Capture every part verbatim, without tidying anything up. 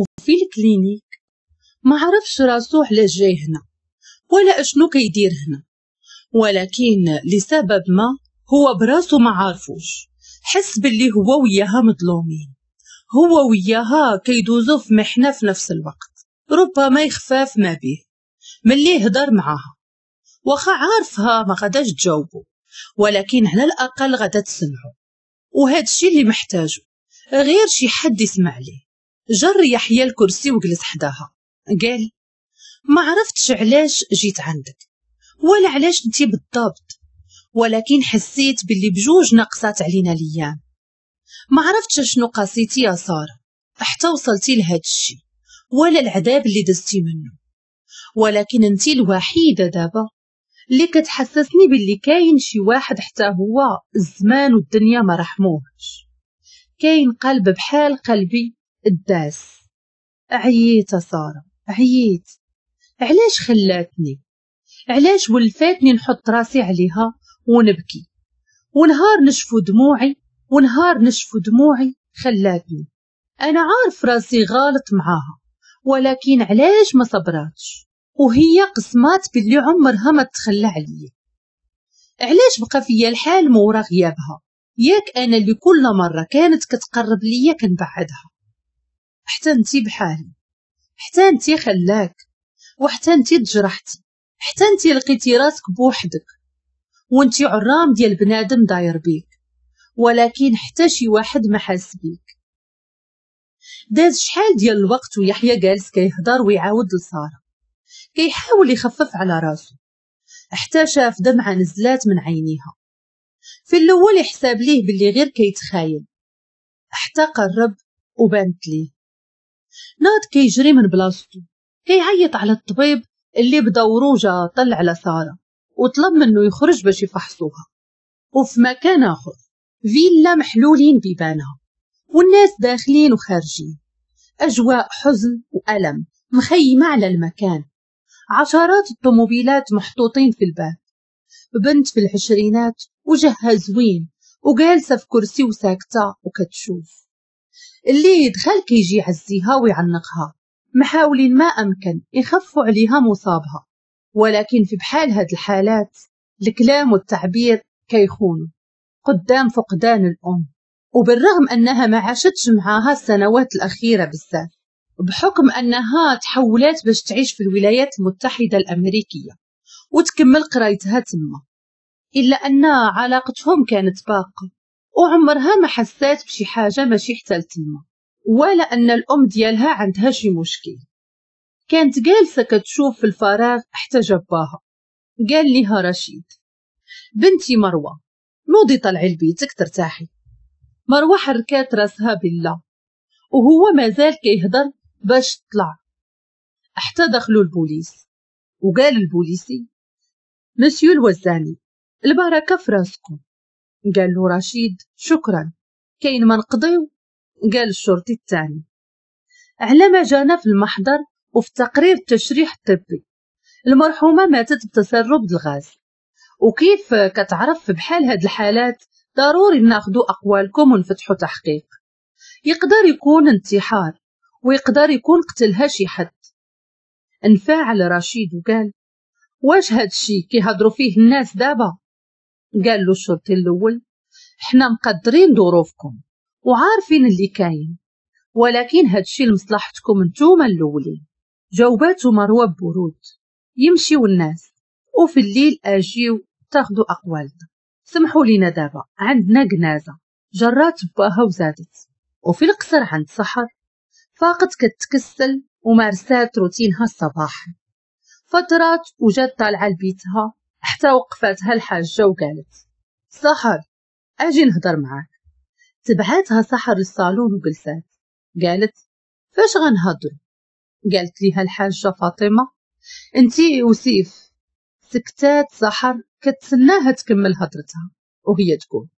وفي ال clinique ما عرفش راسو علاش جاي هنا ولا اشنو كيدير هنا، ولكن لسبب ما هو براسو ما عارفوش. حس باللي هو وياها مظلومين، هو وياها كيدوزو في محنة في نفس الوقت، ربما يخفاف ما به ملي هضر معاها، واخا عارفها ما غاداش تجاوبو، ولكن على الأقل غادا تسمعو، وهذا الشيء اللي محتاجو غير شي حد يسمع ليه. جر يحيى الكرسي وجلس حداها، قال ما عرفتش علاش جيت عندك ولا علاش انتي بالضبط، ولكن حسيت باللي بجوج نقصات علينا الايام. ما عرفتش شنو قاسيتي يا ساره حتى وصلتي لهاد الشيء ولا العذاب اللي دزتي منه، ولكن انتي الوحيدة دابا اللي كتحسسني باللي كاين شي واحد حتى هو الزمان والدنيا ما رحموهش، كاين قلب بحال قلبي الداس. عييت ساره عييت، علاش خلاتني، علاش ولفاتني نحط راسي عليها ونبكي، ونهار نشفو دموعي ونهار نشفو دموعي خلاتني. انا عارف راسي غلط معاها، ولكن علاش ما صبراتش وهي قسمات باللي عمرها ما تخلى عليا؟ علاش بقى فيا الحال مورا غيابها؟ ياك انا اللي كل مرة كانت كتقرب ليا كنبعدها. حتى انتي بحالي، حتى انتي خلاك، وحتى انتي تجرحتي، حتى انتي لقيتي راسك بوحدك وانتي عرام ديال بنادم داير بيك، ولكن حتى شي واحد ما حاس بيك. داز شحال ديال الوقت ويحيى جالس كيهضر ويعاود لساره، كيحاول يخفف على راسو، حتى شاف دمعه نزلات من عينيها. في الاول يحسب ليه باللي غير كيتخايل، حتى قرب وبانت ليه. ناض كيجري من بلاصتو كيعيط على الطبيب اللي بدورو جا طلع على ساره وطلب منه يخرج باش يفحصوها. وفي مكان اخر فيلا محلولين بيبانها والناس داخلين وخارجين، اجواء حزن والم مخيمه على المكان. عشرات الطوموبيلات محطوطين في الباب، بنت في العشرينات وجهها زوين وجالسه في كرسي وساكته وكتشوف. اللي يدخل كيجي يعزيها ويعنقها، محاولين ما امكن يخفوا عليها مصابها، ولكن في بحال هاد الحالات الكلام والتعبير كيخونوا قدام فقدان الام. وبالرغم انها ما عاشتش معاها السنوات الاخيرة بزاف، بحكم انها تحولات باش تعيش في الولايات المتحدة الامريكية وتكمل قرايتها تما، الا ان علاقتهم كانت باقه وعمرها ما حسات بشي حاجة ماشي حتى لتما، ولا ان الام ديالها عندها شي مشكل. كانت جالسة كتشوف في الفراغ حتى جباها. قال لها رشيد بنتي مروه نوضي طلعي لبيتك ترتاحي. مروه حركات راسها بالله، وهو مازال كيهضر باش تطلع حتى دخلوا البوليس. وقال البوليسي مسيو الوزاني البركة في راسكم. قال له رشيد شكرا كاين ما نقضيو. قال الشرطي الثاني على ما جانا في المحضر وفي تقرير التشريح الطبي المرحومة ماتت بتسرب الغاز، وكيف كتعرف بحال هاد الحالات ضروري ناخدو اقوالكم ونفتحو تحقيق. يقدر يكون انتحار ويقدر يكون قتلها شي حد. انفعل رشيد وقال واش هاد الشي كيهضروا فيه الناس دابا؟ قال له الشرطي الاول حنا مقدرين ظروفكم وعارفين اللي كاين، ولكن هادشي لمصلحتكم نتوما الاولين. جاوباتو مروه ببرود يمشيو الناس وفي الليل اجيو تاخدو اقوالنا، سمحوا لينا دابا عندنا جنازه. جرات باها وزادت. وفي القصر عند سحر فاقت كتكسل ومارسات روتينها الصباحي. فترات وجات طالعه لبيتها حتى وقفاتها الحاجة وقالت سحر اجي نهضر معاك. تبعاتها سحر للصالون وجلسات. قالت فاش غنهضروا؟ قالت ليها الحاجة فاطمة انتي وسيف. سكتات سحر كتسناها تكمل هضرتها وهي تقول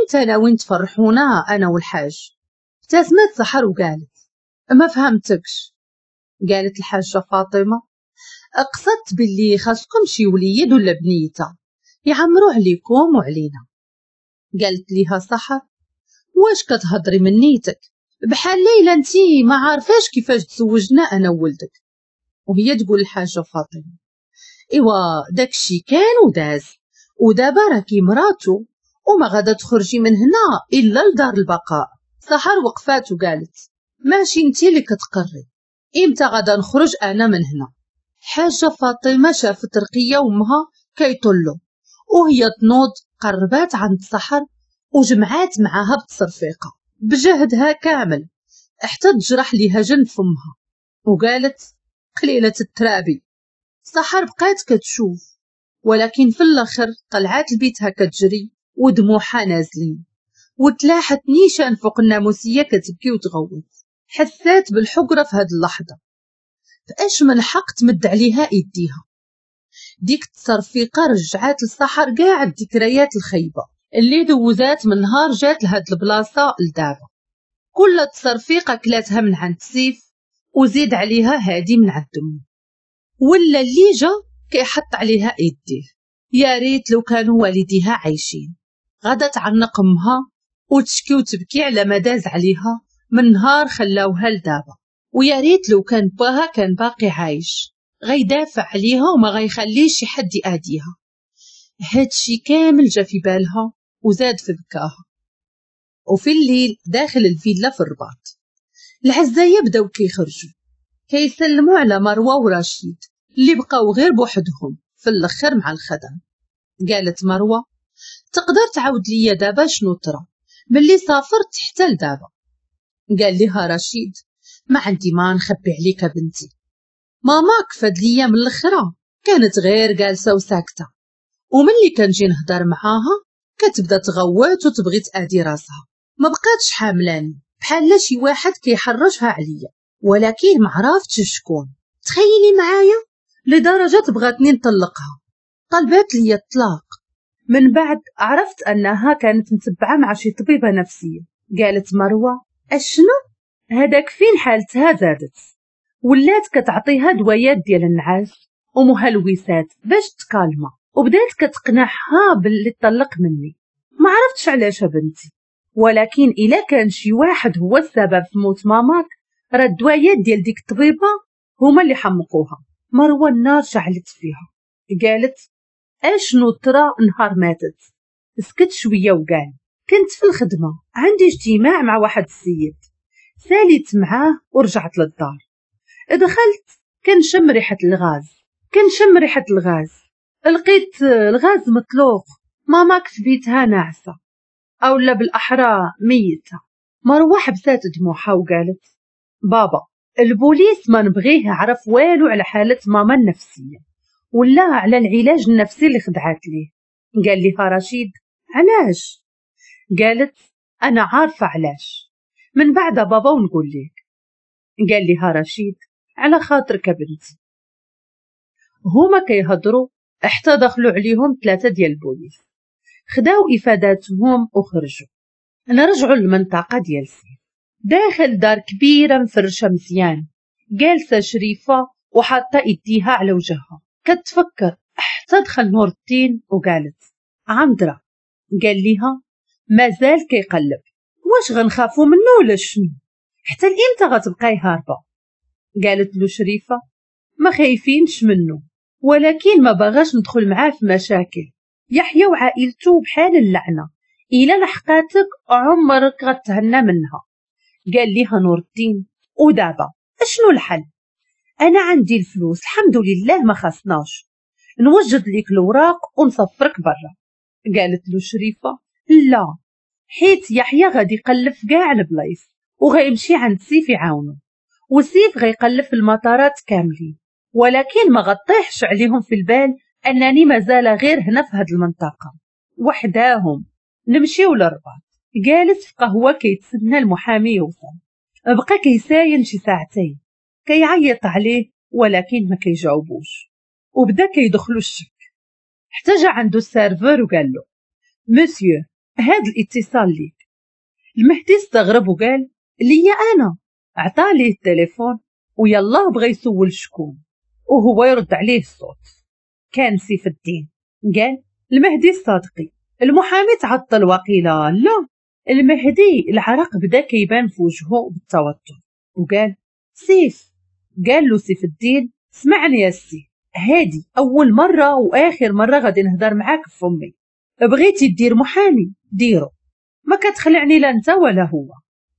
امتى ناويين تفرحونا انا والحاج؟ ابتسمت سحر وقالت ما فهمتكش. قالت الحاجة فاطمة اقصدت باللي خاصكم شي وليد ولا بنيته يعمروا عليكم وعلينا. قالت ليها سحر واش كتهضري من نيتك؟ بحال ليلى انتي ما عارفاش كيفاش تزوجنا انا وولدك. وهي تقول الحاجة فاطمة ايوا داكشي كان وداز، ودابا راكي مراتو وما غادا تخرجي من هنا الا لدار البقاء. سحر وقفات وقالت ماشي انتي اللي كتقري، امتى غادا نخرج انا من هنا؟ حاجة فاطمة شافت رقيه وامها كيطلوا، وهي تنوض قربات عند سحر وجمعات معاها بتصرفيقه بجهدها كامل حتى تجرح ليها جنب فمها، وقالت قليله الترابي. سحر بقات كتشوف، ولكن في الاخر طلعات لبيتها كتجري ودموعها نازلين، وتلاحت نيشان فوق الناموسيه كتبكي وتغوت. حسات بالحقره في هاد اللحظة، فاش من حق تمد عليها ايديها؟ ديك التصرفيقه رجعات لسحر كاع الذكريات الخايبة اللي دوزات من نهار جات لهاد البلاصة لدابا. كل تصرفيقه كلاتها من عند سيف، وزيد عليها هادي من عند امه، ولا اللي جا كيحط عليها ايديه. يا ريت لو كانوا والديها عايشين، غادا تعنق امها وتشكي وتبكي على ما داز عليها من نهار خلاوها لدابا. ويا ريت لو كان باها كان باقي عايش، غيدافع عليها وما غيخليش شي حد يأذيها. هادشي كامل جا في بالها وزاد في بكاها. وفي الليل داخل الفيلا في الرباط، العزايه بداو كيخرجوا كيسلموا على مروه ورشيد اللي بقاو غير بوحدهم في الاخر مع الخدم. قالت مروه تقدر تعاود ليا دابا شنو طرا ملي سافرت حتى لدابا؟ قال لها رشيد ما عندي ما نخبي عليك بنتي، ماماك فاد ليا من الاخرى كانت غير جالسة وساكته، وملي كنجي نهضر معاها كتبدا تغوت وتبغي تادي راسها، ما بقاتش حاملاني بحال شي واحد كيحرشها عليا، ولكن ما عرفتش شكون. تخيلي معايا لدرجة بغاتني نطلقها، طلبات لي الطلاق. من بعد عرفت انها كانت متبعة مع شي طبيبه نفسية. قالت مروه اشنو هذاك فين حالتها زادت، ولات كتعطيها دوايات ديال النعاس ومهلوسات باش تكالما، وبدات كتقنعها باللي طلق مني. ما عرفتش علاش بنتي، ولكن الا كان شي واحد هو السبب في موت ماماك راه الدوايات ديال ديك الطبيبة هما اللي حمقوها. مروه النار شعلت فيها، قالت اشنو طرا نهار ماتت؟ سكت شوية وقال كنت في الخدمة عندي اجتماع مع واحد السيد، ساليت معاه ورجعت للدار. دخلت كنشم ريحه الغاز، كنشم ريحه الغاز، لقيت الغاز مطلوق، ماماك في بيتها ناعسه او لا بالاحرى ميته. مروه حبسات دموعها وقالت بابا البوليس ما نبغيه يعرف والو على حاله ماما النفسية ولا على العلاج النفسي اللي خدعات ليه. قال لها رشيد علاش؟ قالت انا عارفه علاش، من بعد بابا ونقول لك. قال لها رشيد على خاطرك بنتي. هما كيهضروا حتى دخلوا عليهم ثلاثة ديال البوليس، خداو افاداتهم وخرجوا. نرجعوا للمنطقة ديال سيف. داخل دار كبيرة مفرشه مزيان، جالسة شريفه وحاطه ايديها على وجهها كتفكر، حتى دخل نور الدين وقالت عمدره. قال ليها مازال كيقلب، واش غنخافو منه ولا شنو؟ حتى لامتى غتبقاي هاربه؟ قالت له شريفه ما خايفينش منه، ولكن ما باغاش ندخل معاه في مشاكل. يحيى وعائلته بحال اللعنة، الا لحقاتك عمرك غتهنى منها. قال ليها نور الدين ودابا اشنو الحل؟ انا عندي الفلوس الحمد لله ما خصناش، نوجد ليك الوراق ونصفرك برا. قالت له شريفه لا، حيت يحيى غادي يقلب في كاع البلايص وغيمشي عند سيف يعاونو، وسيف غيقلب في المطارات كاملين، ولكن ما غطيحش عليهم في البال انني مازال غير هنا في هاد المنطقة وحداهم. نمشيو للرباط. جالس في قهوة كيتسنى المحامي يوصل، بقى كيساين شي ساعتين، كيعيط عليه ولكن ما كيجاوبوش، وبدا كيدخلو الشك. حتى جا عنده ال serveur وقال له مسيو هاد الاتصال ليك. المهدي استغرب وقال ليا انا؟ عطى ليه التليفون ويلاه بغى يسول شكون، وهو يرد عليه الصوت. كان سيف الدين. قال المهدي الصادقي المحامي تعطل وقيله لا. المهدي العرق بدا كيبان في وجهه بالتوتر وقال سيف. قال له سيف الدين اسمعني يا سي، هادي اول مرة واخر مرة غادي نهضر معاك في فمي. بغيتي دير محامي ديرو، ما كتخلعني لا انت ولا هو،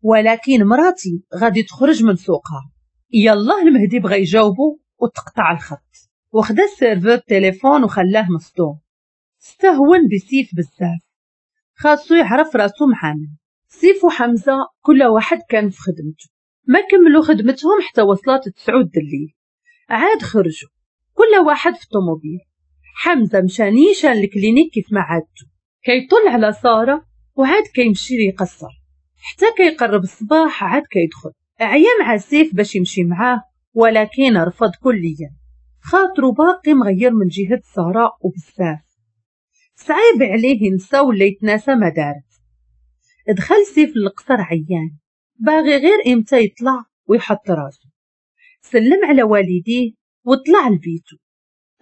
ولكن مراتي غادي تخرج من سوقها. يلا المهدي بغى يجاوبو وتقطع الخط، وخدا ال serveur التليفون وخلاه مصدوم. استهون بسيف بزاف، خاصو يعرف راسو معامن. سيف وحمزة كل واحد كان في خدمته، ما كملوا خدمتهم حتى وصلت تسعود الليل، عاد خرجوا كل واحد في الطوموبيل. حمزة مشى نيشان ال clinique كيف ما عادته، كيطل على ساره وعاد كيمشي ليقصر حتى كيقرب الصباح عاد كيدخل. عيا مع سيف باش يمشي معاه ولكن رفض كليا، خاطرو باقي مغير من جهة ساره وبزاف صعيب عليه ينسى ولا يتناسى ما دارت. دخل سيف للقصر عيان، باغي غير امتى يطلع ويحط راسو. سلم على والديه وطلع لبيتو.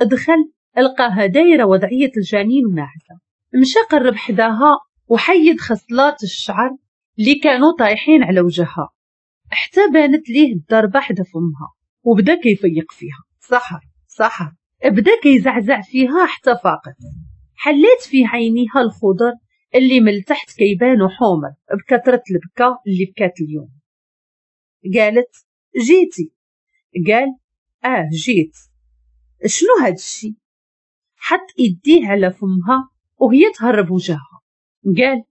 دخل لقاها دايرة وضعية الجنين وناعسه. مشى قرب حداها وحيد خصلات الشعر اللي كانوا طايحين على وجهها حتى بانت ليه الضربة حدا فمها، وبدا كيفيق فيها. سحر سحر، بدا كيزعزع فيها حتى فاقت. حلات في عينيها الخضر اللي من تحت كيبانوا حمر بكثرة البكا اللي بكات اليوم. قالت جيتي؟ قال اه جيت. شنو هاد الشي؟ حط ايديه على فمها وهي تهرب وجهها. قال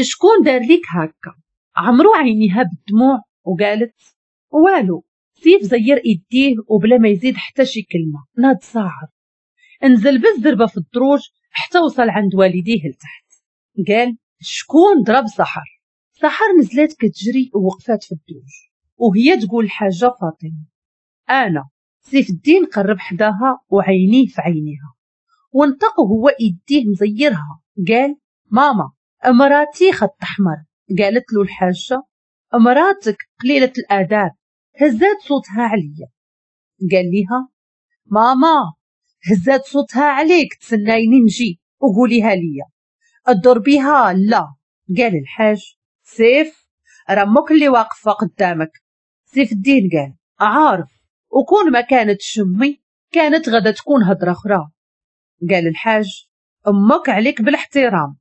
شكون دار ليك هكا؟ عمرو عينيها بالدموع وقالت والو. سيف زير ايديه وبلا ما يزيد حتى شي كلمة ناض صاعد، انزل بالزربه في الدروج حتى وصل عند والديه لتحت. قال شكون ضرب سحر؟ سحر نزلت كتجري ووقفات في الدروج وهي تقول الحاجة فاطمة انا. سيف الدين قرب حداها وعينيه في عينيها وانطق وهو ايديه مزيرها. قال ماما مراتي خط احمر. قالت له الحاجة مراتك قليله الاداب، هزات صوتها عليا. قال ليها ماما هزات صوتها عليك، تسنايني نجي وقوليها ليا، اضربيها لا. قال الحاج سيف راه امك اللي واقفة قدامك. سيف الدين قال عارف، وكون ما كانت شمي كانت غدا تكون هضره اخرى. قال الحاج امك عليك بالاحترام.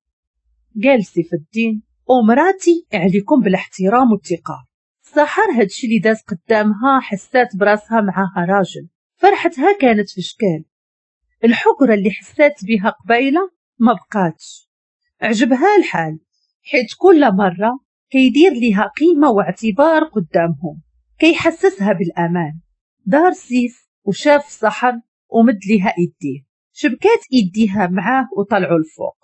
قال سيف الدين ومراتي عليكم بالاحترام والثقة. سحر هادشي اللي داز قدامها حسات براسها معاها راجل، فرحتها كانت في شكال. الحكره اللي حسات بها قبيلة ما بقاتش، عجبها الحال حيت كل مرة كيدير ليها قيمة واعتبار قدامهم، كيحسسها بالامان. دار سيف وشاف سحر ومد ليها ايديه، شبكات ايديها معاه وطلعوا الفوق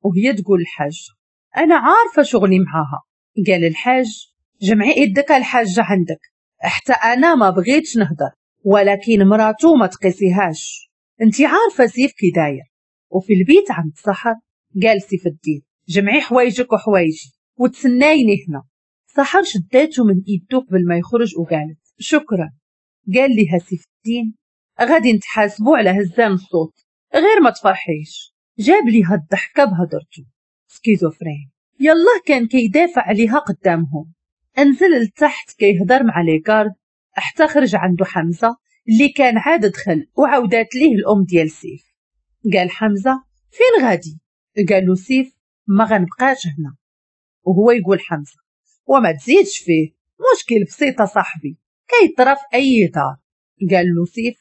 وهي تقول الحاجة انا عارفه شغلي معاها. قال الحاج جمعي ايدك الحاجة عندك، حتى انا ما بغيتش نهضر، ولكن مراتو ما تقيسيهاش، انت عارفه سيف كي داير. وفي البيت عند سحر قال سيف الدين جمعي حوايجك وحوايجي وتسنايني هنا. سحر شداتو من ايدو قبل ما يخرج وقالت شكرا. قال لها سيف الدين غادي نتحاسبوا على هزان الصوت غير ما تفرحيش. جاب ليها الضحكة بهضرته schizophrène. يلا كان كيدافع عليها قدامهم. انزل لتحت كيهضر مع les gardes حتى خرج عنده حمزة اللي كان عاد دخل وعاودات ليه الام ديال سيف. قال حمزة فين غادي؟ قال له سيف ما غنبقاش هنا. وهو يقول حمزة وما تزيدش فيه، مشكل بسيطة صاحبي كيطرف اي دار. قال له سيف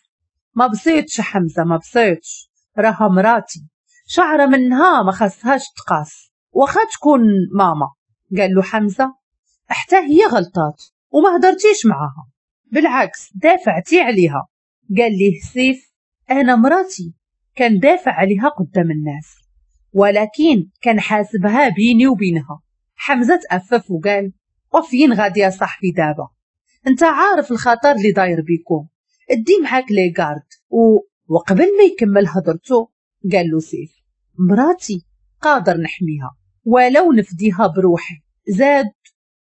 ما بسيطش حمزة ما بسيطش، راها مراتي شعره منها ما خاصهاش تقاس واخا تكون ماما. قال له حمزة حتى هي غلطات وما هدرتيش معاها، بالعكس دافعتي عليها. قال ليه سيف انا مراتي كان دافع عليها قدام الناس، ولكن كان حاسبها بيني وبينها. حمزة تأفف وقال وفين غادي يا صاحبي دابا، انت عارف الخطر اللي داير بيكم، ادي معاك les gardes. و... وقبل ما يكمل هضرته قال له سيف مراتي قادر نحميها ولو نفديها بروحي. زاد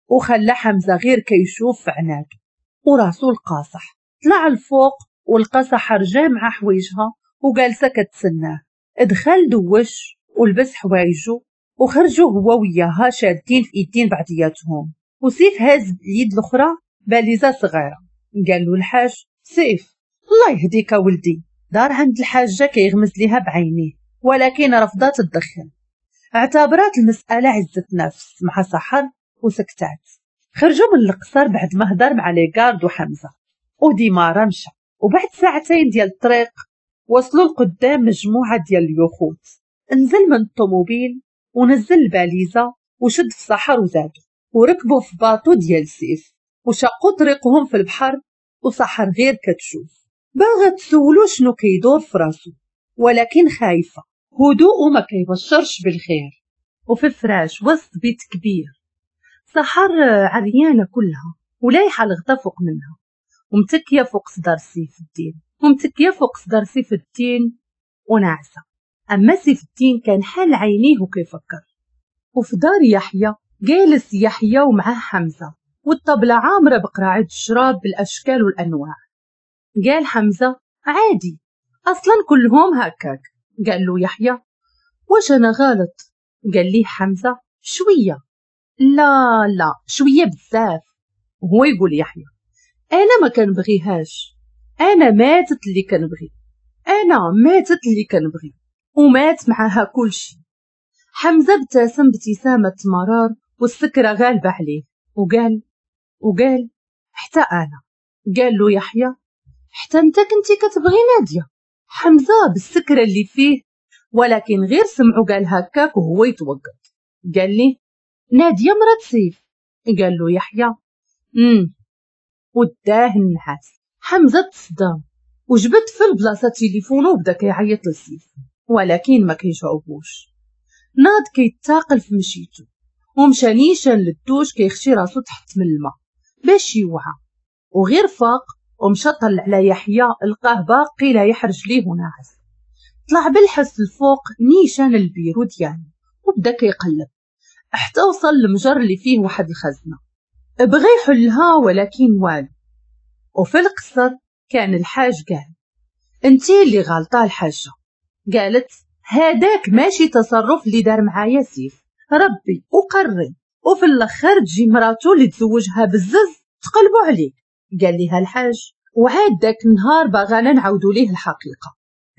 وخلى حمزة غير كيشوف في عناده وراسو القاصح. طلع الفوق ولقى سحر جامعه حوايجها وجالسه كتسناه. دخل دوش ولبس حوايجو وخرجوا هو وياها شادين في ايدين بعضياتهم، وسيف هاز اليد الاخرى باليزه صغيرة. قال له الحاج سيف الله يهديك ولدي. دار عند الحاجة كيغمز ليها بعينيه، ولكن رفضات تدخل، اعتبرات المسالة عزه نفس مع سحر وسكتات. خرجوا من القصر بعد ما هدر مع les gardes وحمزة و démarra مشى. وبعد ساعتين ديال الطريق وصلوا لقدام مجموعة ديال اليخوت. نزل من الطوموبيل ونزل الباليزه وشد في سحر وزادو، وركبوا في bateau ديال سيف وشقوا طريقهم في البحر. وسحر غير كتشوف، باغا تسولو شنو كيدور في راسو، ولكن خايفة، هدوءه ما كيبشرش بالخير. وفي الفراش وسط بيت كبير، سحر عريانه كلها ولايحه الغطا فوق منها، ومتكيه فوق صدر سيف الدين، ومتكيه فوق صدر سيف الدين وناعسه. اما سيف الدين كان حال عينيه وكيفكر. وفي دار يحيى جالس يحيى ومعاه حمزة، والطبله عامرة بقراعه الشراب بالاشكال والانواع. قال حمزة عادي اصلا كلهم هكاك. قال له يحيى واش انا غلط؟ قال ليه حمزة شوية. لا لا شوية بزاف. وهو يقول يحيى انا ما كنبغيهاش، انا ماتت اللي كنبغي، انا ماتت اللي كنبغي، ومات معاها كلشي. حمزة ابتسم ابتسامة مرار والسكره غالبه عليه، وقال وقال حتى انا. قال له يحيى حتى انت كنتي كتبغي ناديه؟ حمزة بالسكره اللي فيه، ولكن غير سمعو قال هكاك وهو يتوقف. قال لي ناديه مرات سيف. قال له يحيى امم وداه النحاس. حمزة تصدم وجبد في البلاصة تليفونه وبدا كيعيط لسيف، ولكن ما كيجاوبوش. ناض كيتاقل في مشيتو ومشى نيشان للدوش كيخشي راسو تحت من الماء باش يوعى. وغير فاق ومشى طلع على يحيى، لقاه باقي لا يحرج ليه وناعس. طلع بالحس الفوق نيشان البيرو ديالو وبدا كيقلب حتى وصل للمجر اللي فيه واحد الخزنة، بغى يحلها ولكن والو. وفي القصر كان الحاج قال انتي اللي غلطه الحاجة. قالت هذاك ماشي تصرف اللي دار معايا سيف، ربي وقري، وفي الاخر تجي مراتو اللي تزوجها بالزز تقلبوا عليك. قال ليها الحاج وعاد داك النهار باغانا نعاودوا ليه الحقيقة.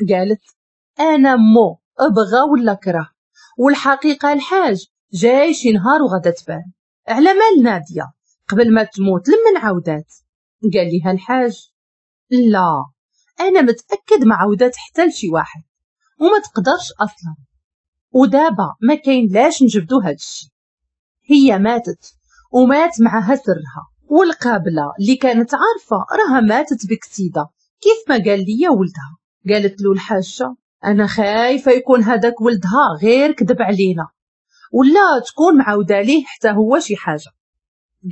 قالت انا مو ابغى ولا كره، والحقيقة الحاج جاي شي نهار وغادا تبان. على مال ناديه قبل ما تموت لمن عاودات؟ قال ليها الحاج لا انا متاكد ما عاودات حتى لشي واحد وما تقدرش اصلا، ودابا ما كاين لاش نجبدو هاد الشي. هي ماتت ومات معها سرها، والقابله اللي كانت عارفه راها ماتت بكسيده كيف ما قال لي ولدها. قالت له الحاجة انا خايفة يكون هذاك ولدها غير كذب علينا، ولا تكون معوده ليه حتى هو شي حاجة.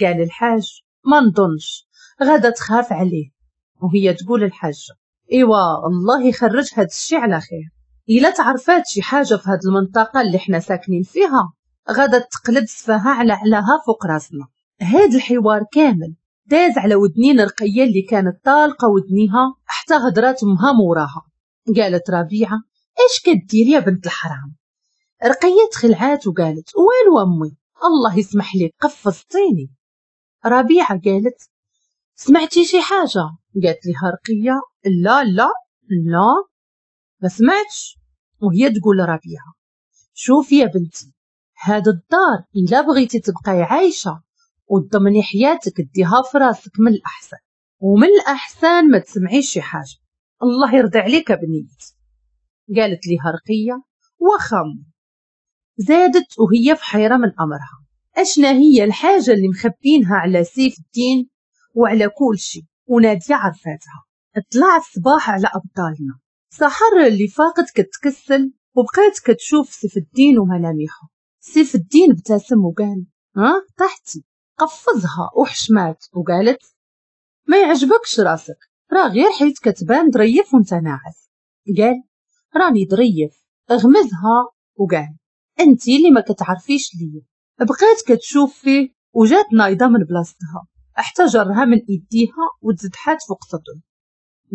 قال الحاج ما نظنش، غادا تخاف عليه. وهي تقول الحاجة ايوا الله يخرج هاد الشي على خير، الا تعرفات شي حاجة في هاد المنطقة اللي حنا ساكنين فيها غادا تقلب سفاها على علاها فوق راسنا. هاد الحوار كامل داز على ودنين رقيه اللي كانت طالقه ودنيها حتى هضرات امها موراها. قالت ربيعة اش كدير يا بنت الحرام؟ رقيه تخلعات وقالت والو امي الله يسمح لي قفزتيني. ربيعة قالت سمعتي شي حاجة؟ قالت لها رقيه لا لا لا ما سمعتش. وهي تقول ربيعة شوفي يا بنتي هاد الدار الا بغيتي تبقاي عايشه وتضمني حياتك ديها في راسك من الاحسن، ومن الاحسن ما تسمعيش شي حاجة، الله يرضي عليك بنيتي. قالت لها رقيه واخا. زادت وهي في حيره من امرها، اشنا هي الحاجة اللي مخبينها على سيف الدين وعلى كل شيء وناديه عرفاتها. طلع الصباح على ابطالنا. سحر اللي فاقت كتكسل وبقات كتشوف سيف الدين وملامحه. سيف الدين ابتسم وقال ها طحتي. قفزها وحشمات وقالت ما يعجبكش راسك راه غير حيت كتبان ظريف وانت ناعس. قال راني ظريف. غمزها وقال انتي اللي ما كتعرفيش ليا. بقات كتشوف فيه وجات نايضه من بلاصتها حتى جرها من ايديها وتزدحات فوق صدره.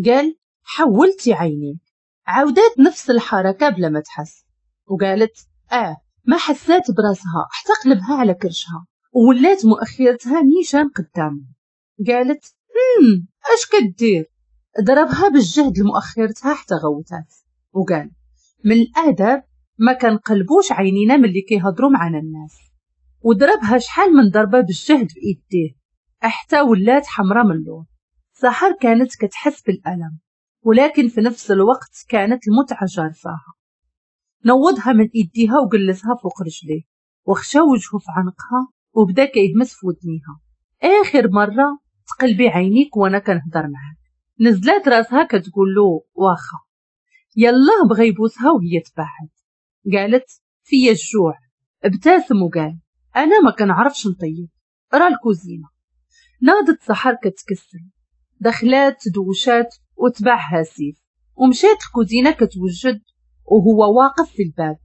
قال حولتي عينيك. عاودات نفس الحركة بلا ما تحس وقالت اه ما حسات براسها حتى قلبها على كرشها وولات مؤخرتها نيشان قدامه. قالت هم اش كدير؟ ضربها بالجهد لمؤخرتها حتى غوتات وقال من الادب ما كنقلبوش عينينا ملي كيهضروا معنا الناس. وضربها شحال من ضربه بالجهد بايديه حتى ولات حمراء من اللون. سحر كانت كتحس بالالم، ولكن في نفس الوقت كانت المتعة جارفاها. نوضها من ايديها وجلسها فوق رجليه وخشى وجهه في عنقها وبدا كيهمس في ودنيها، اخر مرة تقلبي عينيك وانا كنهضر معاك. نزلات راسها كتقول له واخا. يلا بغى يبوسها وهي تبعد. قالت فيا الجوع. ابتسم وقال انا ما كنعرفش نطيب، راه الكوزينة. ناضت سحر كتكسل، دخلات دوشات وتبعها سيف ومشات الكوزينة كتوجد وهو واقف في الباب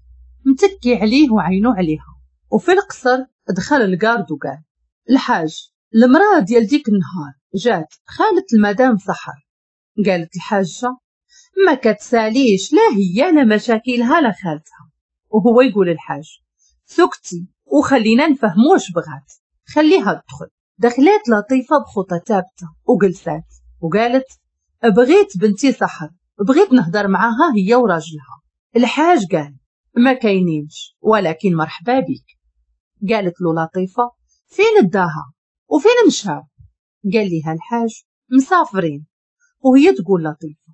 متكي عليه وعينو عليها. وفي القصر دخل ال garde وقال الحاج المراة ديال ديك النهار جات خالة المدام سحر. قالت الحاجة ما كتساليش لا هي لا مشاكلها لا خالتها. وهو يقول الحاج سكتي وخلينا نفهمو واش بغات، خليها تدخل. دخلات لطيفة بخطى ثابتة وجلسات وقالت بغيت بنتي سحر، بغيت نهضر معاها هي وراجلها. الحاج قال ما كاينينش ولكن مرحبا بك. قالت له لطيفة فين داها وفين مشاو؟ قال ليها الحاج مسافرين. وهي تقول لطيفة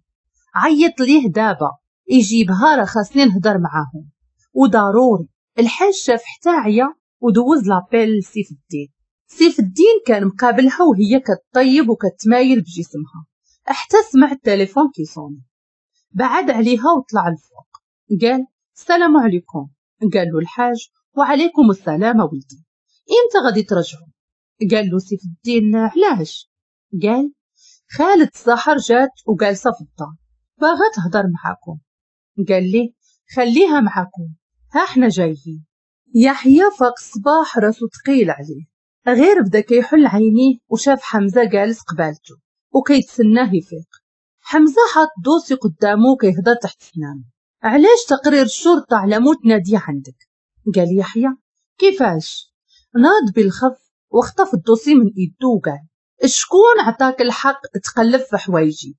عيط ليه دابا يجيبها راه خاصني نهضر معاهم وضروري. الحاج شاف حتى عيا ودوز l'appel لسيف الدين. سيف الدين كان مقابلها وهي كتطيب وكتمايل بجسمها حتى سمع التليفون كيصوني. بعد عليها وطلع الفوق قال السلام عليكم. قال له الحاج وعليكم السلام ولدي، امتى غادي ترجعوا؟ قال له سيف الدين علاش؟ قال خالة سحر جات وجالسه في الدار باغا تهضر معاكم. قال لي خليها معاكم، ها احنا جايين. يحيى فاق الصباح راسو ثقيل عليه، غير بدا كيحل عينيه وشاف حمزة جالس قبالته وكيتسناه يفيق. حمزة حاط dossier قدامه كيهضر تحت سنانه، علاش تقرير الشرطة على موت ناديه عندك؟ قال يحيى كيفاش؟ ناض بالخف وخطف ال dossier من ايدو وقال شكون عطاك الحق تقلب في حوايجي؟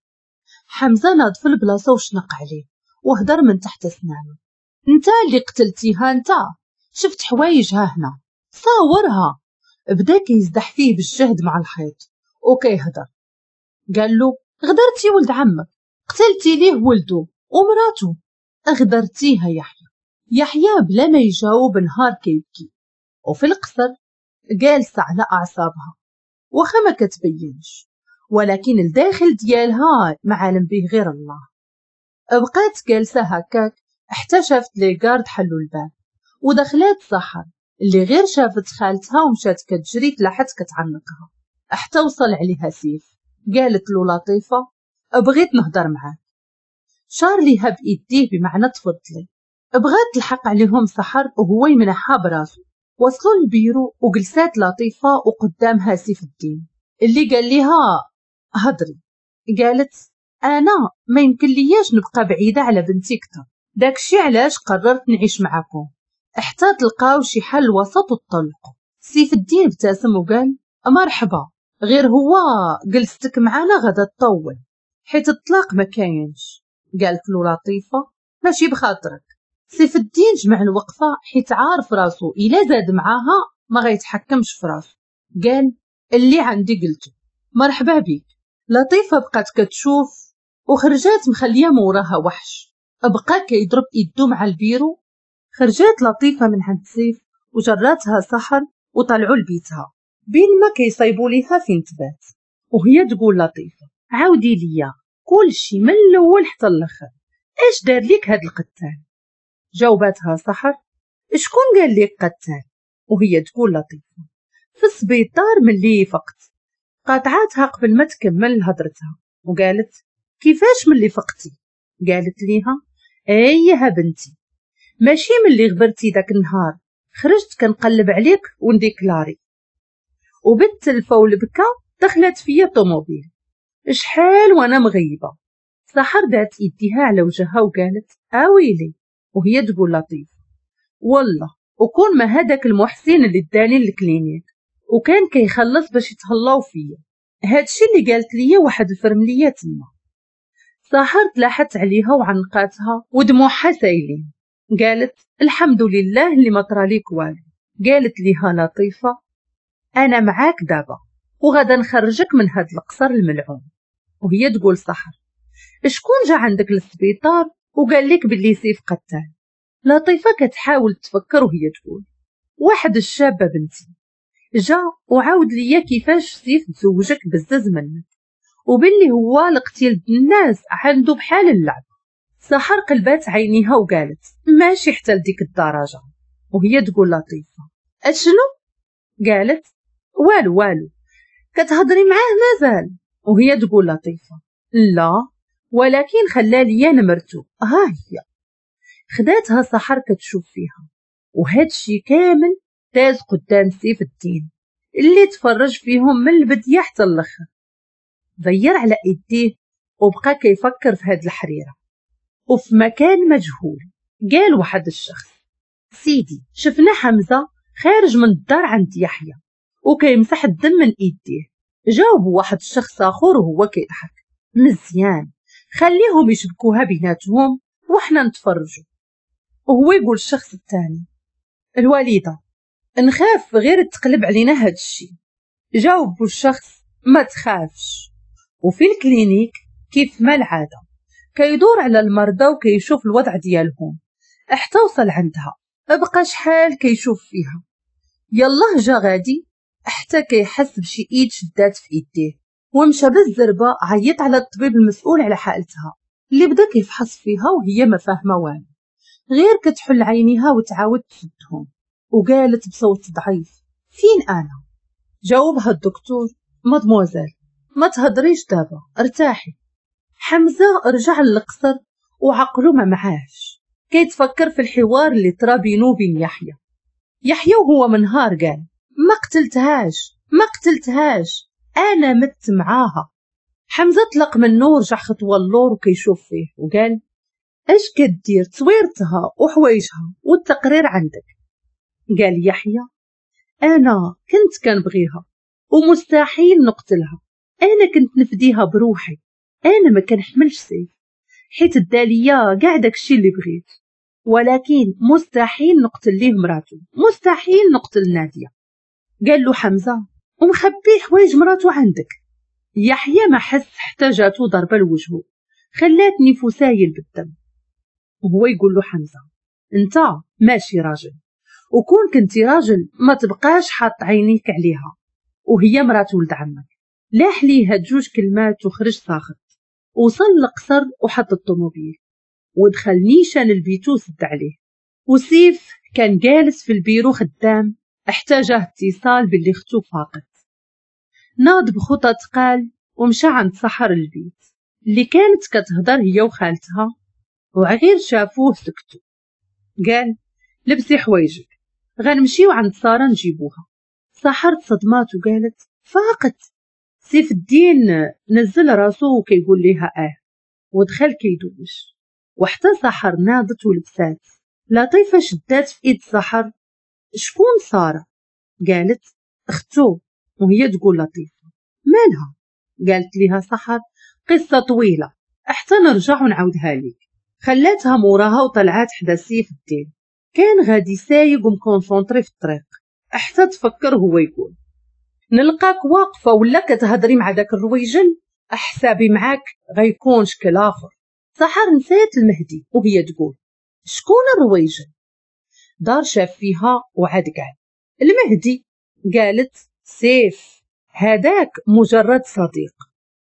حمزة ناض في البلاصة وشنق عليه وهدر من تحت سنانه، انت اللي قتلتيها، انت شفت حوايجها هنا صورها. بدا كيزدح فيه بالجهد مع الحيط وكيهدر. قال له غدرتي ولد عمك، قتلتي ليه ولده ومراته، غدرتيها يحيى. يحيى بلا ما يجاوب نهار كيبكي. وفي القصر جالسة على اعصابها واخا ما كتبينش، ولكن الداخل ديالها ما عالم به غير الله. بقات جالسة هكاك حتى شافت les gardes حلوا الباب ودخلات سحر اللي غير شافت خالتها ومشات كتجري تلاحت كتعنقها حتى وصل عليها سيف. قالت له لطيفة بغيت نهضر معاك. شار ليها بايديه بمعنى تفضلي. بغات تلحق عليهم سحر وهو يمنحها براسو. وصلوا للبيرو وجلسات لطيفة وقدامها سيف الدين اللي قال لها هضري. قالت انا ما يمكن لياش نبقى بعيدة على بنتي كتر، داكشي علاش قررت نعيش معاكم حتى تلقاو شي حل وسط وتطلقوا. سيف الدين ابتسم وقال مرحبا، غير هو جلستك معانا غدا تطول حيت الطلاق ما كاينش. قالت له لطيفة ماشي بخاطرك. سيف الدين جمع الوقفة حيت عارف راسو الا زاد معاها ما غيتحكمش في راسو. قال اللي عندي قلته، مرحبا بك. لطيفة بقات كتشوف وخرجات مخليه موراها وحش، بقى كيضرب ايدو مع البيرو. خرجات لطيفة من عند سيف وجراتها سحر وطلعوا لبيتها بين ما كيصايبوا ليها فين تبات. وهي تقول لطيفة عاودي ليا كلشي من الاول حتى الاخر، اش دار ليك هاد القتال؟ جاوباتها سحر شكون قال لك قتال؟ وهي تقول لطيفة في السبيطار ملي فقت. قاطعاتها قبل ما تكمل هضرتها وقالت كيفاش ملي فقتي؟ قالت ليها ايها بنتي ماشي ملي غبرتي داك النهار خرجت كنقلب عليك ونديكلاري وبالتلفه والبكا دخلت فيا طوموبيل شحال وانا مغيبه. سحر دات يديها على وجهها وقالت اويلي. وهي تقول لطيف والله وكون ما هداك المحسن اللي داني لل clinique وكان كيخلص باش يتهلاو فيا. هادشي اللي قالت ليا واحد الفرمليه تما. سحر تلاحت عليها وعنقاتها ودموعها سايلين، قالت الحمد لله اللي ما طراليك والو. قالت ليها لطيفة انا معاك دابا وغادا نخرجك من هاد القصر الملعون. وهي تقول سحر شكون جا عندك للسبيطار وقال لك باللي سيف قتال؟ لطيفة كتحاول تفكر وهي تقول واحد الشابة بنتي جا وعاود ليا كيفاش سيف تزوجك بزز منك وباللي هو القتيل الناس عنده بحال اللعب. سحر قلبات عينيها وقالت ماشي حتى لديك الدرجة. وهي تقول لطيفة اشنو؟ قالت والو والو كتهضري معاه مازال. وهي تقول لطيفة لا ولكن خلى ليا نمرتو ها هي. خداتها سحر كتشوف فيها، وهادشي كامل داز قدام سيف الدين اللي تفرج فيهم من البداية حتى الاخر. ضير على ايديه وبقى كيفكر في هاد الحريره. وفي مكان مجهول قال واحد الشخص سيدي شفنا حمزة خارج من الدار عند يحيى وكيمسح الدم من ايديه. جاوبوا واحد الشخص اخر وهو كيضحك مزيان خليهم يشبكوها بيناتهم وحنا نتفرجوا. وهو يقول الشخص الثاني الوالدة نخاف غير تقلب علينا هاد الشيء. جاوبوا الشخص ما تخافش. وفي ال clinique كيف ما العادة كيدور على المرضى وكيشوف الوضع ديالهم حتى وصل عندها. بقى شحال كيشوف فيها، يلاه جا غادي حتى كيحس بشي ايد شدات في ايديه ومشى بالزربه عيط على الطبيب المسؤول على حالتها اللي بدا كيفحص فيها وهي ما فاهمه والو، غير كتحل عينيها وتعاود تسدهم. وقالت بصوت ضعيف فين انا؟ جاوبها الدكتور مادموزيل ما تهضريش دابا ارتاحي. حمزة رجع للقصر وعقله ما معاش، كيتفكر في الحوار اللي طرا بينو وبين يحيى. يحيى وهو منهار قال ما قتلتهاش ما قتلتهاش انا مت معاها. حمزة طلق منه ورجع خطوة اللور وكيشوف فيه وقال اش كدير؟ تصويرتها وحوايجها والتقرير عندك. قال يحيى انا كنت كنبغيها ومستحيل نقتلها، انا كنت نفديها بروحي، انا ما كنحملش سيف حيت الداليه كاع داكشي اللي بغيت، ولكن مستحيل نقتل ليه مراته، مستحيل نقتل ناديه. قال له حمزة ومخبي حوايج مراته عندك؟ يحيى ما حس حتى جاتو ضربه لوجهه خلاتني فسايل بالدم. وهو يقول له حمزة انت ماشي راجل، وكون كنتي راجل ما تبقاش حاط عينيك عليها وهي مرات ولد عمك. لاح ليها جوج كلمات وخرج ساخط. وصل للقصر وحط الطوموبيل ودخل نيشان البيتو سد عليه. وسيف كان جالس في البيرو خدام احتاجه اتصال باللي اختو فاقت. ناض بخطى قال ومشى عند سحر البيت اللي كانت كتهضر هي وخالتها، وغير شافوه سكتوا. قال لبسي حوايجك غنمشيو عند ساره نجيبوها. سحر تصدمات وقالت فاقت. سيف الدين نزل راسو وكيقول ليها اه ودخل كيدوش. وحتى سحر ناضت ولبسات. لطيفة شدات في ايد سحر شكون ساره؟ قالت اختو. وهي تقول لطيفة مالها؟ قالت ليها سحر قصة طويلة حتى نرجع ونعاودها ليك. خلاتها موراها وطلعات حدا سيف الدين. كان غادي سايق وم concentré في الطريق حتى تفكر هو يقول نلقاك واقفة ولا كتهضري مع داك الرويجل احسابي معاك غيكون شكل اخر. سحر نسات المهدي وهي تقول شكون الرويجل؟ دار شاف فيها وعاد قال المهدي. قالت سيف هذاك مجرد صديق.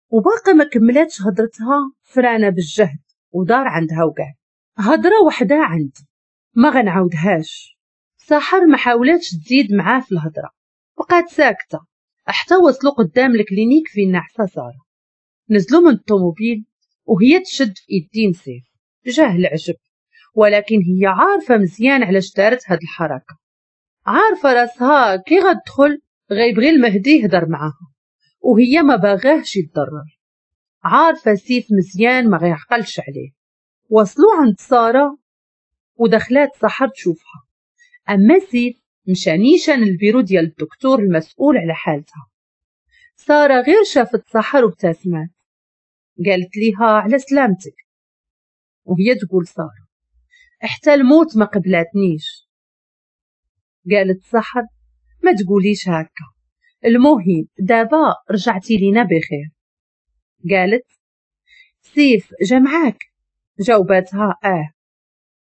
وباقي ما كملاتش هضرتها فرانه بالجهد ودار عندها وقال هضره وحده عندي ما غنعاودهاش. سحر ما حاولاتش تزيد معاه في الهضرة بقات ساكته حتى وصلوا قدام ال clinique فين نعسه ساره. نزلوا من الطوموبيل وهي تشد في ايدين سيف. جاه العجب، ولكن هي عارفه مزيان علاش دارت هاد الحركة، عارفه راسها كي غتدخل غيبغي المهدي يهضر معاها وهي ما باغاهش يتضرر، عارفه سيف مزيان ما غيعقلش عليه. وصلوا عند ساره ودخلات سحر تشوفها. اما سيف مشى نيشان البيرو ديال الدكتور المسؤول على حالتها. ساره غير شافت سحر وابتسمت، قالت ليها على سلامتك. وهي تقول ساره حتى الموت ما قبلاتنيش. قالت سحر ما تقوليش هكا، المهم دابا رجعتي لينا بخير. قالت سيف جا معاك؟ جاوباتها اه.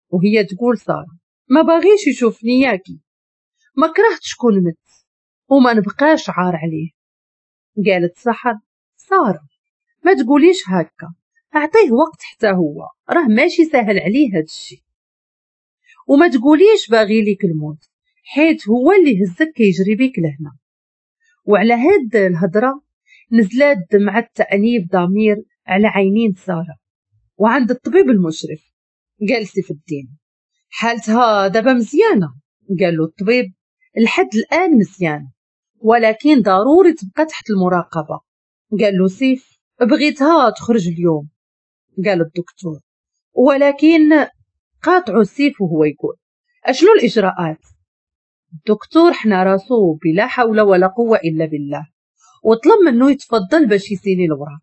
وهي تقول ساره ما باغيش يشوفني ياكي، ما كرهت شكون مت وما نبقاش عار عليه. قالت سحر ساره ما تقوليش هكا، اعطيه وقت حتى هو راه ماشي سهل عليه هاد الشيء، وما تقوليش باغي ليك الموت حيت هو اللي هزك كيجري بيك لهنا. وعلى هاد الهضرة نزلات دمعه تأنيب ضمير على عينين ساره. وعند الطبيب المشرف قال سيف الدين حالتها دابا مزيانه. قال له الطبيب لحد الان مزيانه، ولكن ضروري تبقى تحت المراقبة. قال له سيف بغيتها تخرج اليوم. قال الدكتور ولكن قاطعوا سيف وهو يقول اشنو الاجراءات؟ الدكتور حنا راسو بلا حول ولا قوة الا بالله، وطلب منه يتفضل باش يسيني الوراق.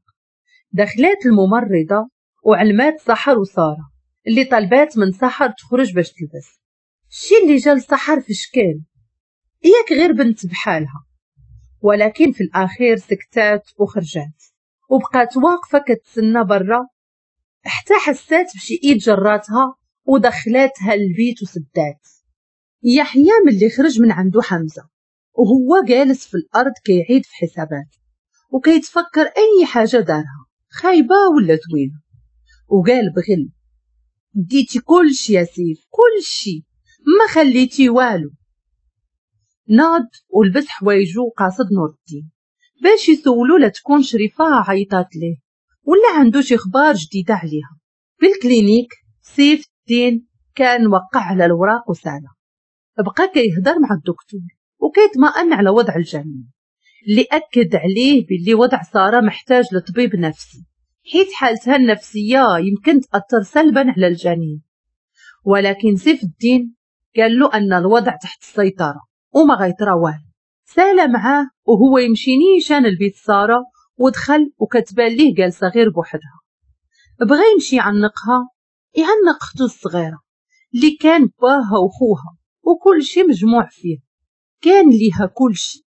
دخلات الممرضة وعلمات سحر وسارة اللي طلبات من سحر تخرج باش تلبس. الشي اللي جا لسحر في شكال، ياك غير بنت بحالها. ولكن في الاخير سكتات وخرجات وبقات واقفة كتسنى برا حتى حسات بشي ايد جراتها ودخلاتها للبيت وسدات. يحيى ملي خرج من عنده حمزة وهو جالس في الارض كيعيد في حسابات وكيتفكر اي حاجة دارها خايبة ولا زوينة، وقال بغل ديتي كلشي يا سيف، كلشي ما خليتي والو. ناض ولبس حوايجو وقاصد نور الدين باش يسولو لا تكون شريفه عيطات ليه ولا عنده شي اخبار جديدة عليها. في ال clinique سيف الدين كان وقع على الوراق وسالا، بقى كيهضر مع الدكتور وكيطمئن على وضع الجنين اللي اكد عليه باللي وضع ساره محتاج لطبيب نفسي حيت حالتها النفسية يمكن تاثر سلبا على الجنين. ولكن سيف الدين قال له ان الوضع تحت السيطرة وما غيطرا والو. سالا معاه وهو يمشي نيشان البيت ساره ودخل وكتبان ليه جالسة غير بوحدها. بغى يمشي يعنقها، يعنق اختو الصغيرة اللي كان باها وخوها وكل شي مجموع فيه، كان ليها كل شي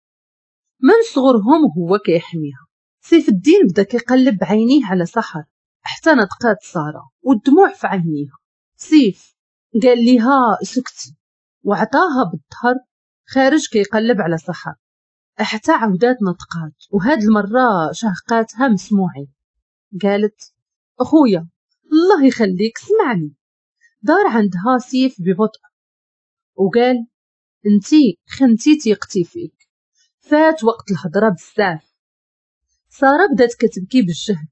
من صغرهم وهو كيحميها. سيف الدين بدا كيقلب بعينيه على سحر حتى نطقات ساره والدموع في عينيها. سيف قال ليها سكتي وعطاها بالظهر خارج كيقلب على سحر حتى عودات نطقات، وهاد المرة شهقاتها مسموعين. قالت اخويا الله يخليك سمعني. دار عندها سيف ببطء وقال انتي خنتي تيقتي فيك، فات وقت الهضرة بزاف. ساره بدات كتبكي بالجهد،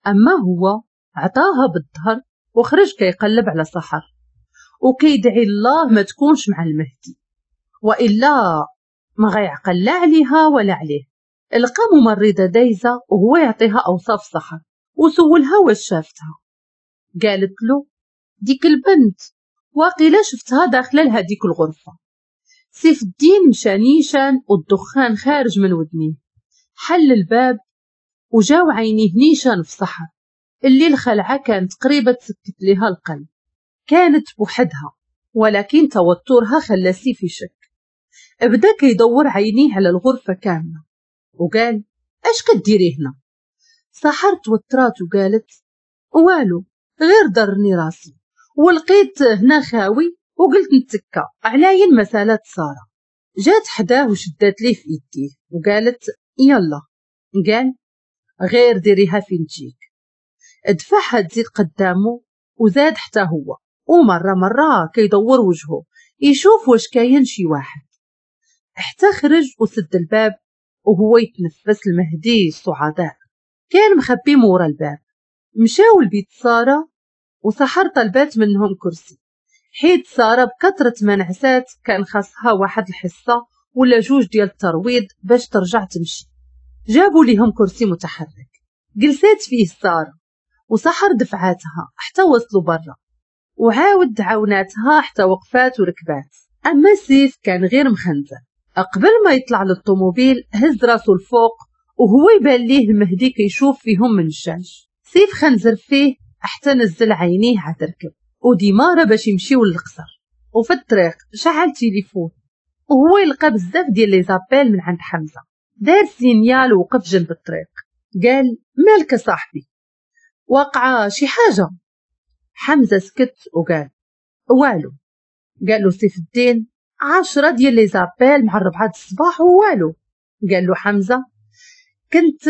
اما هو عطاها بالظهر وخرج كيقلب على سحر وكيدعي الله ما تكونش مع المهدي والا ما غيعقل لا عليها ولا عليه. لقى ممرضة دايزه وهو يعطيها اوصاف سحر وسولها واش شافتها. قالت له ديك البنت واقيلا شفتها داخله لهاديك الغرفة. سيف الدين مشى نيشان والدخان خارج من ودنيه، حل الباب وجاو عينيه نيشان في سحر اللي الخلعة كانت قريبه تسكت ليها القلب. كانت بوحدها ولكن توترها خلى سيف يشك. بدا كيدور عينيه على الغرفة كاملة وقال اش كديري هنا؟ سحر توترات وقالت والو غير ضرني راسي ولقيت هنا خاوي وقلت نتكا علاين مسالة ساره. جات حداه وشدات ليه في يديه وقالت يلا. قال غير ديريها فين تجيك. دفعها تزيد قدامه وزاد حتى هو، ومرة مرة كيدور وجهه يشوف واش كاين شي واحد حتى خرج وسد الباب وهو يتنفس المهدي السعداء. كان مخبي مورا الباب. مشاو لبيت ساره وسحر طلبات منهم كرسي حيت ساره بكثرة ما نعسات كان خاصها واحد الحصة ولا جوج ديال الترويض باش ترجع تمشي. جابوا ليهم كرسي متحرك جلسات فيه ساره وسحر دفعاتها حتى وصلوا برا، وعاود عاوناتها حتى وقفات وركبات. اما سيف كان غير مخنزر. قبل ما يطلع للطوموبيل هز راسو الفوق وهو يبان ليه المهدي كيشوف فيهم من الشاش. سيف خنزر فيه حتى نزل عينيه عتركب وديمارة باش يمشيو للقصر. وفي الطريق شعل تليفون وهو يلقى بزاف ديال les appels من عند حمزة. دار signal ووقف جنب الطريق، قال مالك صاحبي، واقعه شي حاجة؟ حمزة سكت وقال والو. قال له سيف الدين عشرة ديال les appels مع الربعة الصباح ووالو. قال له حمزة كنت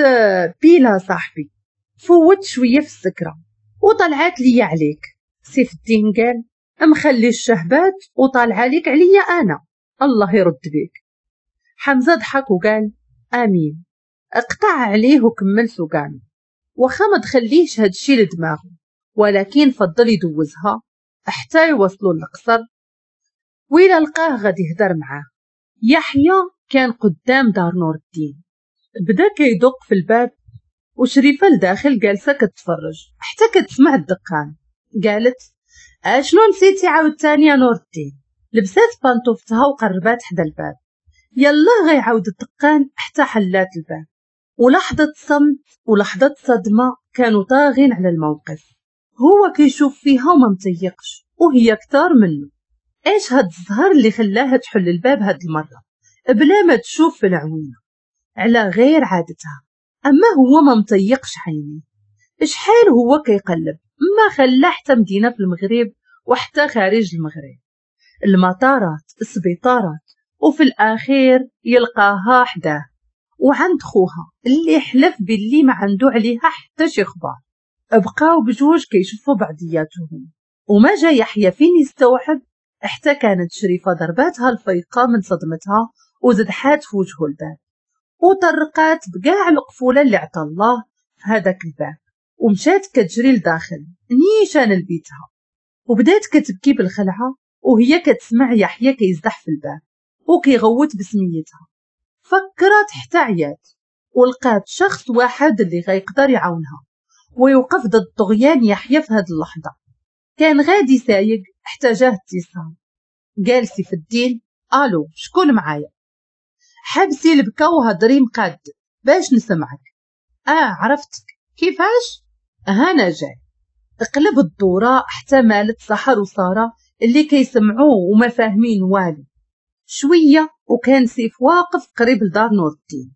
بيلا صاحبي، فوت شوية في السكرة وطلعت لي عليك. سيف الدين قال مخلي الشهبات وطالع عليك عليا انا، الله يرد بيك. حمزة ضحك وقال امين. اقطع عليه وكمل سوقانه، واخا ما تخليهش هادشي لدماغه، ولكن فضل يدوزها حتى يوصلوا للقصر وإلا لقاه غادي يهدر معاه. يحيى كان قدام دار نور الدين، بدا كيدق في الباب وشريفه لداخل جالسة كتفرج حتى كتسمع الدقان. قالت اشنو نسيتي عاوتاني يا نور الدين؟ لبسات بانطوفتها وقربات حدا الباب، يلا غيعاود الدقان حتى حلات الباب. ولحظة صمت ولحظة صدمة كانوا طاغين على الموقف. هو كيشوف فيها وما متيقش وهي كتار منه. ايش هاد الزهر اللي خلاها تحل الباب هاد المرة بلا ما تشوف في العوينة على غير عادتها. اما هو ما مطيقش عينيه، شحال هو كيقلب، ما خلى حتى مدينة في المغرب وحتى خارج المغرب، المطارات، السبيطارات، وفي الاخير يلقاها حداه وعند خوها اللي حلف باللي ما عنده عليها حتى شي خبار. بقاو بجوج كيشوفوا بعضياتهم، وما جا يحيى فين يستوعب حتى كانت شريفه ضرباتها الفيقه من صدمتها وزدحات في وجهه الباب وطرقات بكاع القفوله اللي عطى الله في هذاك الباب، ومشات كتجري لداخل نيشان لبيتها وبدات كتبكي بالخلعه وهي كتسمع يحيى كيزدح في الباب وكيغوت بسميتها. فكرت حتى عيات ولقات شخص واحد اللي غيقدر يعاونها ويوقف ضد طغيان يحيى في هذه اللحظة. كان غادي سايق حتى جاه اتصال. قال سيف الدين الو شكون معايا؟ حبسي البكا وهضري مقاد باش نسمعك. اه عرفتك، كيفاش؟ هانا جاي. اقلب الدورة حتى مالت سحر وسارة اللي كيسمعوه وما فاهمين والو. شوية وكان سيف واقف قريب لدار نور الدين،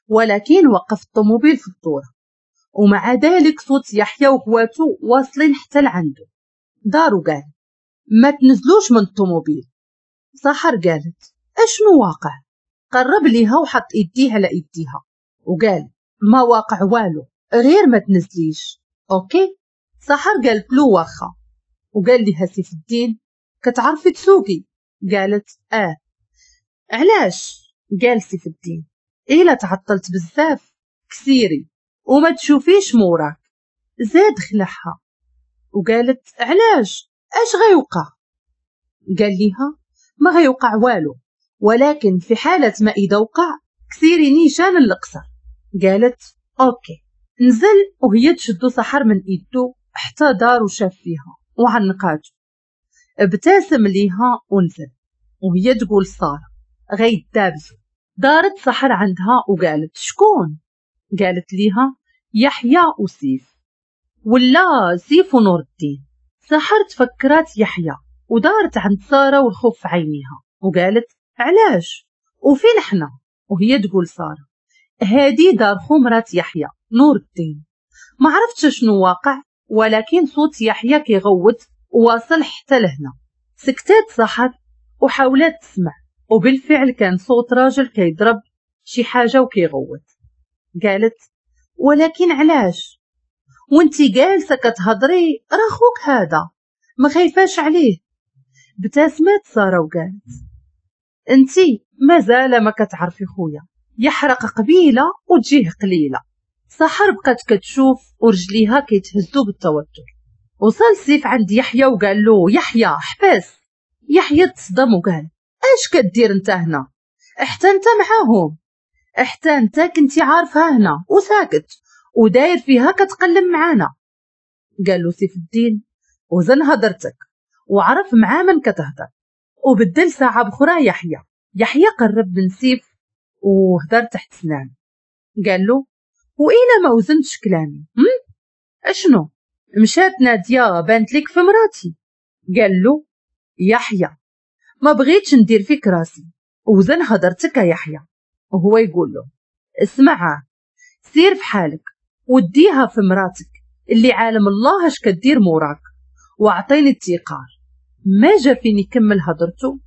ولكن وقف الطوموبيل في الدورة، ومع ذلك صوت يحيى وخواتو واصلين حتى لعنده. دارو قال ما تنزلوش من الطوموبيل. سحر قالت اشنو واقع؟ قرب ليها وحط ايديه على ايديها وقال ما واقع والو، غير ما تنزليش. OK. سحر قالت له واخا. وقال لها سيف الدين كتعرفي تسوقي؟ قالت اه. علاش؟ قال سيف الدين الا تعطلت بزاف كسيري وما تشوفيش موراك. زاد خلعها وقالت علاش؟ اش غيوقع؟ قال لها ما غيوقع والو، ولكن في حالة ما إذا وقع كسيري نيشان القصر. قالت OK. نزل وهي تشدو سحر من ايدو حتى دار وشاف فيها وعنقاتو. ابتسم ليها ونزل وهي تقول سارة غيدابزو. دارت سحر عندها وقالت شكون؟ قالت ليها يحيى وسيف، ولا سيف ونور الدين. سحر تفكرات يحيى ودارت عند سارة والخوف في عينيها وقالت علاش وفين حنا؟ وهي تقول سارة هادي دار خو مرات يحيى نور الدين. ما عرفتش شنو واقع، ولكن صوت يحيى كيغوت وواصل حتى لهنا. سكتات سحر وحاولت تسمع، وبالفعل كان صوت راجل كيضرب شي حاجة وكيغوت. قالت ولكن علاش وانتي جالسة كتهضري؟ راه خوك هذا، ما خايفاش عليه؟ ابتسمت ساره وقالت انتي مازال ما كتعرفي خويا، يحرق قبيلة وتجيه قليله. سحر بقات كتشوف ورجليها كيتهزوا بالتوتر. وصل سيف عند يحيى وقال له يحيى حبس. يحيى تصدم وقال اش كدير انت هنا؟ حتى انت معاهم، حتى انت كنتي عارفها هنا وساكت وداير فيها كتقلم معانا. قال له سيف الدين وزن هضرتك وعرف مع من كتهضر، وبدل ساعة بخرى يحيى. يحيى قرب من سيف وهدر تحت سنان، قال له وإلا ما وزنتش كلامي هم؟ اشنو مشات نادية بانت لك في مراتي؟ قال له يحيى ما بغيتش ندير فيك راسي، وزن هدرتك يا يحيى. وهو يقول له اسمع، سير في حالك وديها في مراتك اللي عالم الله اش كدير موراك، واعطيني التيقار. ما جا فين يكمل هدرته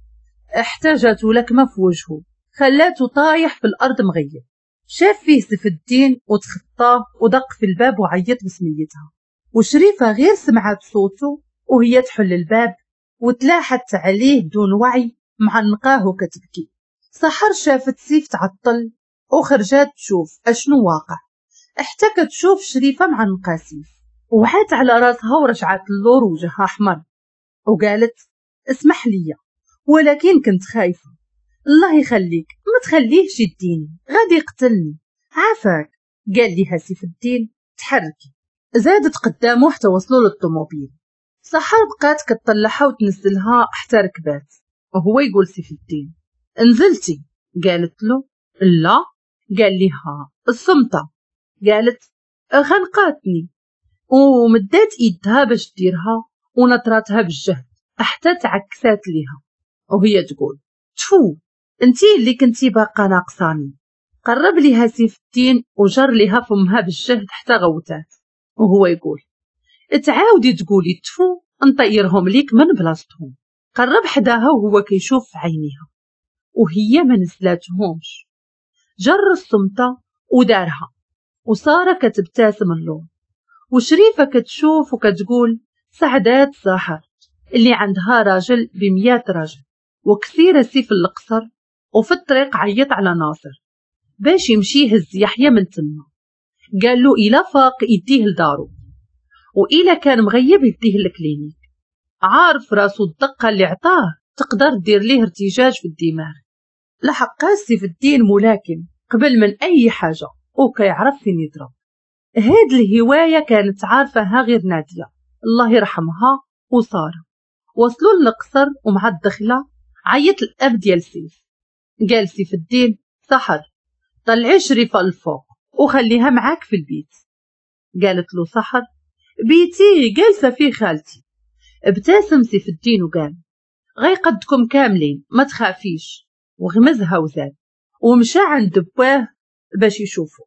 احتاجته لكمه في وجهه، خلاته طايح في الارض مغيب. شاف فيه سيف الدين وتخطاه ودق في الباب وعيط بسميتها، وشريفه غير سمعت صوته وهي تحل الباب وتلاحت عليه بدون وعي معنقاه وكتبكي. سحر شافت سيف تعطل وخرجات تشوف اشنو واقع، حتى كتشوف شريفه معنقه سيف، وعات على راسها ورجعت اللور وجهها احمر وقالت اسمح لي ولكن كنت خايفة، الله يخليك ما تخليهش يديني غادي يقتلني عافاك. قال ليها سيف الدين تحركي. زادت قدامه حتى وصلوا للطوموبيل. سحر بقات كتطلعها وتنزلها حتى ركبات، وهو يقول سيف الدين نزلتي؟ قالت له لا. قال لها الصمتة. قالت خنقاتني، ومدات ايدها باش ديرها ونطراتها بالجهد حتى تعكسات ليها، وهي تقول تفو انتي اللي كنتي باقا ناقصاني. قرب ليها سيف الدين وجر ليها فمها بالجهد حتى غوتات، وهو يقول تعاودي تقولي تفو نطيرهم ليك من بلاصتهم. قرب حداها وهو كيشوف في عينيها وهي ما نزلاتهمش، جر الصمتة ودارها، وسارة كتبتسم اللون، وشريفة كتشوف وكتقول سعدات سحر اللي عندها راجل بميات راجل. وكثيرة سيف القصر، وفي الطريق عيط على ناصر باش يمشي يهز يحيى من تما. قال له إلا فاق يديه لدارو، وإلا كان مغيب يديه لل clinique. عارف راسو الدقة اللي عطاه تقدر دير ليه ارتجاج في الدماغ. لحق سيف الدين ملاكم قبل من أي حاجة وكيعرف فين يضرب. هاد الهواية كانت عارفها غير نادية الله يرحمها وسارة. وصلوا للقصر ومع الدخلة عيط الأب ديال سيف. قال سيف الدين سحر طلعي شريفة الفوق وخليها معاك في البيت. قالت له سحر بيتي جالسة فيه خالتي. ابتسم سيف الدين وقال غيقدكم كاملين ما تخافيش، وغمزها وزاد ومشى عند باه باش يشوفه.